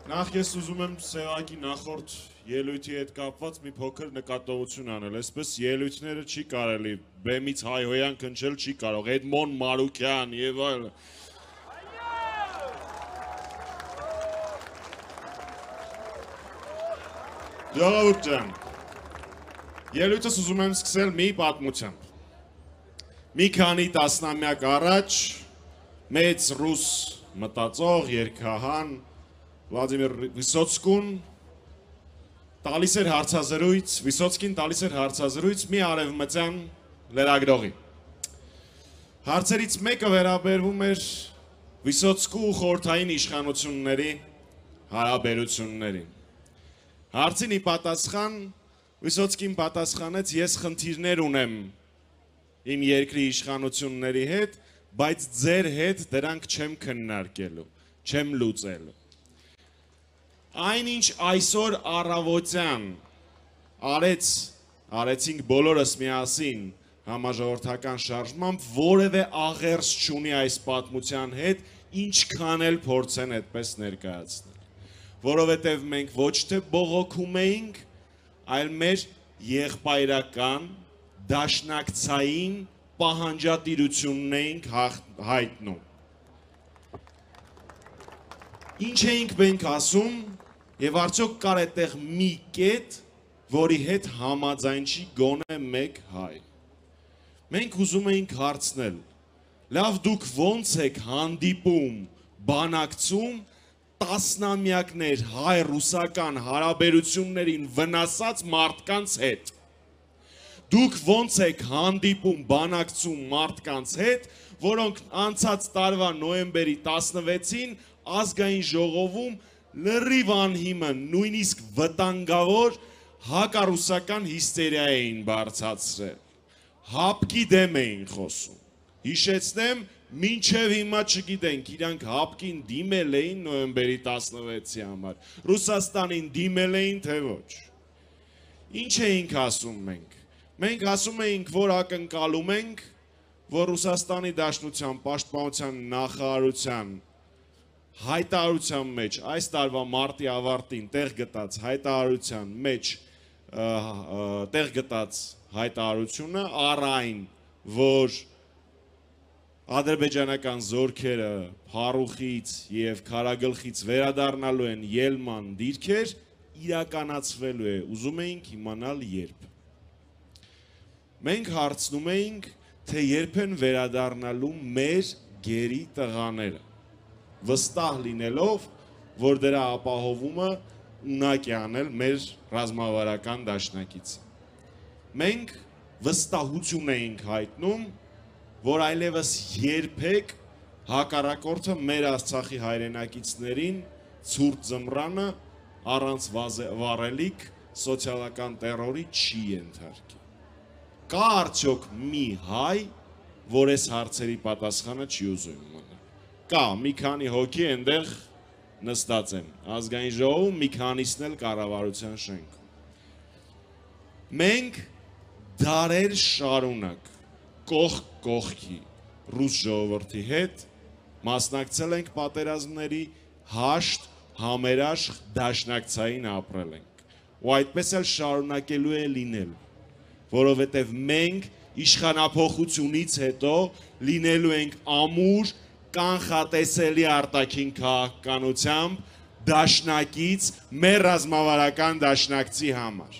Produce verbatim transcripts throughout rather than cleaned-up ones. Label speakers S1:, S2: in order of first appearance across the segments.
S1: Նախ ես ուզում եմ Սևակի նախորդ ելույթի հետ կապված մի փոքր նկատողություն անել, այսպես ելույթները չի կարելի, բեմից հայհոյան քնչել չի կարող, Էդմոն Մարուկյան եւ այլն։ Ժողովուրդ ջան, ելույթս ուզում եմ սկսել մի պատմությամբ։ Մի քանի տասնամյակ առաջ մեծ ռուս մտածող, երգահան Վլադիմիր Վիսոցկուն տալիս էր հարցազրույց, Վիսոցկին տալիս էր հարցազրույց մի արևմտյան լրագրողի։ Հարցերից մեկը վերաբերվում էր Վիսոցկու խորհրդային իշխանությունների հարաբերություններին։ Հարցին ի պատասխան Վիսոցկին պատասխանեց, ես խնդիրներ ունեմ իմ երկրի իշխանությունների հետ, բայց ձեր հետ դրանք չեմ քննարկելու, չեմ լուծելու։ Այնինչ այսօր առավոտյան արեց, արեցինք բոլորս միասին համաժողովրդական շարժմամբ, որևէ աղերս չունի այս պատմության հետ, ինչքան էլ փորձեն այդպես ներկայացնել։ Որովհետև մենք ոչ թե բողոքում էինք, այլ մեր եղբայրական, դաշնակցային պահանջատիրությունն էինք հայտնում։ Ինչ էինք մենք ասում, եւ արդյոք կար այդտեղ մի կետ, որի հետ համաձայն չի գոնե մեկ հայ։ Մենք ուզում էինք հարցնել, լավ դուք ոնց եք հանդիպում, բանակցում տասնամյակներ հայ-ռուսական հարաբերություններին վնասած մարդկանց հետ։ Դուք ոնց եք հանդիպում, բանակցում մարդկանց հետ, որոնք անցած տարվա նոյեմբերի տասնվեցին ազգային ժողովում լրիվ անհիմն, նույնիսկ վտանգավոր հակառուսական հիստերիա էին բարձրացրել։ Հապկի դեմ էին խոսում։ Հիշեցնեմ, մինչև հիմա չգիտենք, իրանք հապկին դիմել էին նոյեմբերի տասնվեցի համար, Ռուսաստանին դիմել էին, թե ոչ։ Ինչ էինք ասում մենք։ Մենք ասում էինք, որ ակնկալում ենք, որ Ռուսաստանի Դաշնության պաշտպանության նախարարության հայտարարության մեջ, այս տարվա մարտի ավարտին տեղ գտած հայտարարության մեջ տեղ գտած հայտարարությունը առ այն, որ ադրբեջանական զորքերը Փարուխից եւ Քարագլխից վերադառնալու են ելման դիրքեր, իրականացվելու է, ուզում էինք իմանալ երբ։ Մենք հարցնում էինք, թե երբ են վերադառնալու մեր գերի տղաները, վստահ լինելով, որ դրա ապահովումը ունակ է անել մեր ռազմավարական դաշնակիցը։ Մենք վստահություն էինք հայտնում, որ այլևս երբեք հակառակորդը մեր Արցախի հայրենակիցներին ցուրտ ձմռանը առանց վառելիք սոցիալական տերորի չի ենթարկի։ Կա արդյոք մի հայ, որ այս հարցերի պատասխանը չի ուզում իմանալ։ Կա, մի քանի հոգի այնտեղ նստած են, ազգային ժողովում մի քանիսն էլ կառավարության շենքում։ Մենք դարեր շարունակ կողք կողքի ռուս ժողովրդի հետ մասնակցել ենք պատերազմների, հաշտ, համերաշխ, դաշնակցային ապրել ենք։ Ու այդպես էլ շարունակելու է լինել, որովհետև մենք իշխանափոխությունից հետո լինելու ենք ամուր, կանխատեսելի արտաքին քաղաքականությամբ դաշնակից մեր ռազմավարական դաշնակցի համար։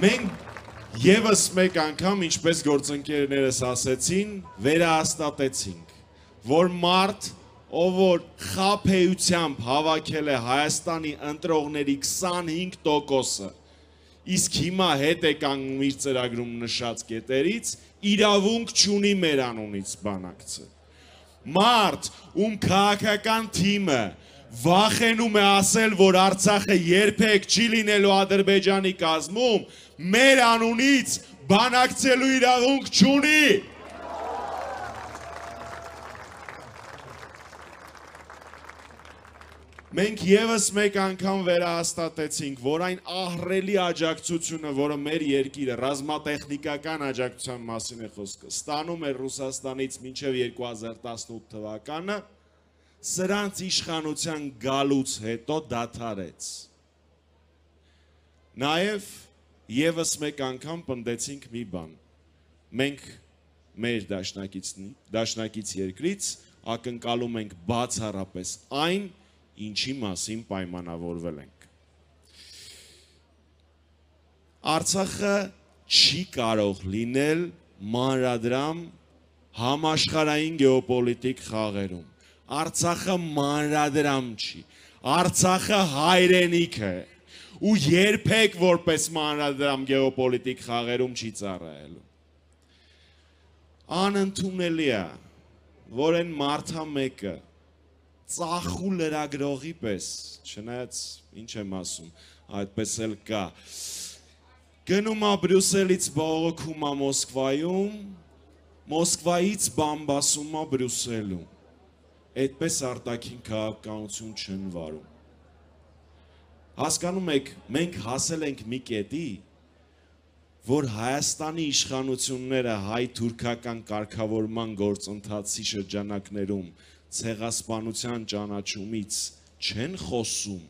S1: Մենք ևս մեկ անգամ, ինչպես գործընկերներս ասեցին, վերահաստատեցինք, որ մարդ, ով որ խաբեությամբ հավաքել է Հայաստանի ընտրողների քսանհինգ տոկոսը, իսկ հիմա հետ է կանգնում իր ծրագրում նշած կետերից, իրավունք չունի մեր անունից բանակցել։ Մարդ, ում քաղաքական թիմը վախենում է ասել, որ Արցախը երբեք չի լինելու Ադրբեջանի կազմում, մեր անունից բանակցելու իրավունք չունի։ Մենք եւս մեկ անգամ վերահաստատեցինք, որ այն ահռելի աջակցությունը, որը մեր երկիրը ռազմատեխնիկական աջակցության մասին է խոսքը, ստանում էր Ռուսաստանից մինչև երկու հազար տասնութ թվականը, սրանց իշխանության գալուց հետո դադարեց։ Նաև եւս մեկ անգամ պնդեցինք մի բան։ Մենք մեր դաշնակից երկրից ակնկալում ենք բացառապես այն, ինչի մասին պայմանավորվել ենք։ Արցախը չի կարող լինել մանրադրամ համաշխարհային գեոպոլիտիկ խաղերում։ Արցախը մանրադրամ չի։ Արցախը հայրենիք է ու երբեք որպես մանրադրամ գեոպոլիտիկ խաղերում չի ծառայելու։ Անընդունելի է, որ այն մարդա մեկը ծախու լրագրողի պես, չնայած ինչ եմ ասում, այդպես էլ կա, գնում է Բրյուսելից բողոքում է Մոսկվայում, Մոսկվայից բամբասում է Բրյուսելում, այդպես արտաքին քաղաքականություն չեն վարում։ Հասկանում եք, մենք հասել ենք մի կետի, որ Հայաստանի իշխանությունները հայ-թուրքական կարգավորման գործընթացի շրջանակներում ցեղասպանության ճանաչումից չեն խոսում,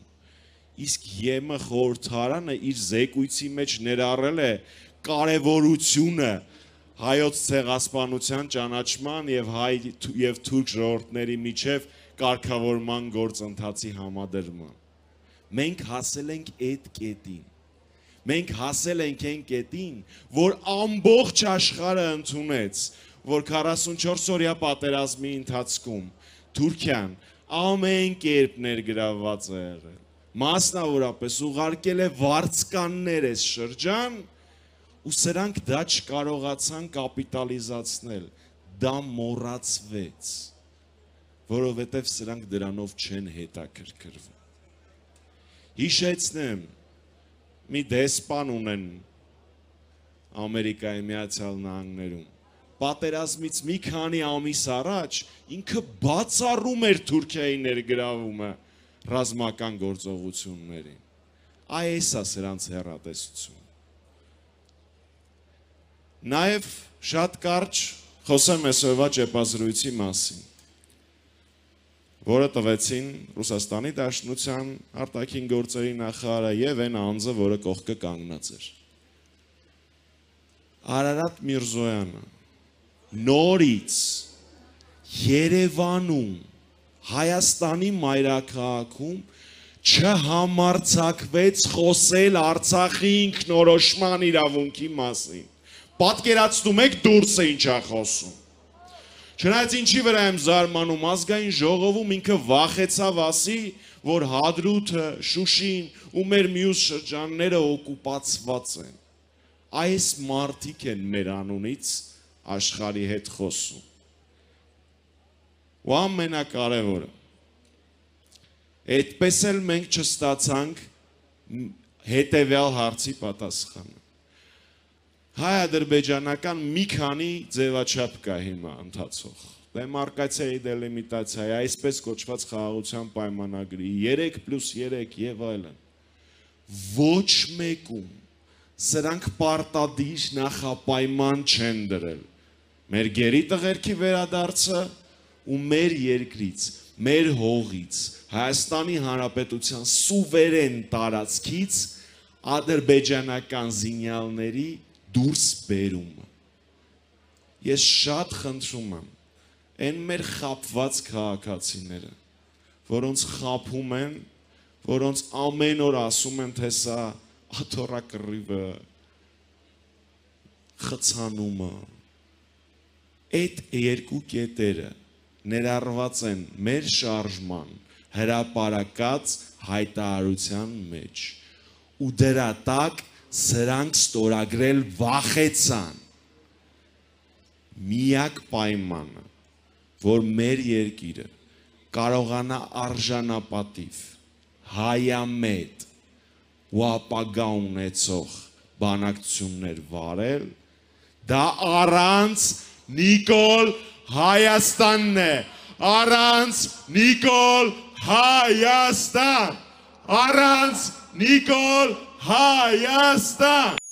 S1: իսկ ԵՄ խորհրդարանը իր զեկույցի մեջ ներառել է կարևորությունը հայոց ցեղասպանության ճանաչման եւ հայ եւ թուրք ժողովուրդների միջև կարգավորման գործընթացի համադրման։ Մենք հասել ենք այդ կետին։ Մենք հասել ենք այն կետին, որ ամբողջ աշխարհը ընդունեց, որ քառասունչորս օրյա պատերազմի ընթացքում Թուրքիան ամեն կերպ ներգրավված է եղել, մասնավորապես ուղարկել է վարձկաններ այս շրջան, ու սրանք դա չկարողացան կապիտալիզացնել, դա մոռացվեց, որովհետև սրանք դրանով չեն հետաքրքրվում։ Հիշեցնեմ, մի դեսպան ունեն Ամերիկայի Միացյալ Նահանգներում, պատերազմից մի քանի ամիս առաջ ինքը բացառում էր Թուրքիայի ներգրավումը ռազմական գործողություններին։ Այս է սրանց հեռատեսությունը։ Նաև շատ կարճ խոսեմ այսօրվա ճեպազրույցի մասին, որը տվեցին Ռուսաստանի Դաշնության արտաքին գործերի նախարարը եւ այն անձը, որը կողքը կանգնած էր։ Արարատ Միրզոյանը նորից Երևանում, Հայաստանի մայրաքաղաքում չհամարձակվեց խոսել Արցախի ինքնորոշման իրավունքի մասին։ Պատկերացնում եք դուրս է ինչ է խոսում։ Չնայած ինչի վրա եմ զարմանում, ազգային ժողովում ինքը վախեցավ ասի, որ Հադրութը, Շուշին ու մեր մյուս շրջանները օկուպացված են։ Այս մարդիկ են մեր անունից աշխարհի հետ խոսում։ Ու ամենակարևորը, այդպես էլ մենք չստացանք հետևյալ հարցի պատասխանը։ Հայ-ադրբեջանական մի քանի ձևաչափ կա հիմա ընթացող, դեմարկացիայի, դելիմիտացիայի, այսպես կոչված խաղաղության պայմանագրի, երեք պլյուս երեք եւ այլն։ Ոչ մեկում սրանք պարտադիր նախապայման չեն դրել։ Մեր գերի տղերքի վերադարձը ու մեր երկրից, մեր հողից, Հայաստանի Հանրապետության սուվերեն տարածքից ադրբեջանական զինյալների դուրս բերումը։ Ես շատ խնդրում եմ այն մեր խաբված քաղաքացիները, որոնց խաբում են, որոնց ամեն օր ասում են, թե սա աթոռակռիվը, խցանումը, այդ երկու կետերը ներառված են մեր շարժման հրապարակած հայտարարության մեջ ու դրա տակ սրանք ստորագրել վախեցան։ Միակ պայմանը, որ մեր երկիրը կարողանա արժանապատիվ, հայամետ ու ապագա ունեցող բանակցություններ վարել, դա առանց Նիկոլ Հայաստանն է, առանց Նիկոլ Հայաստան, առանց Նիկոլ Հայաստան։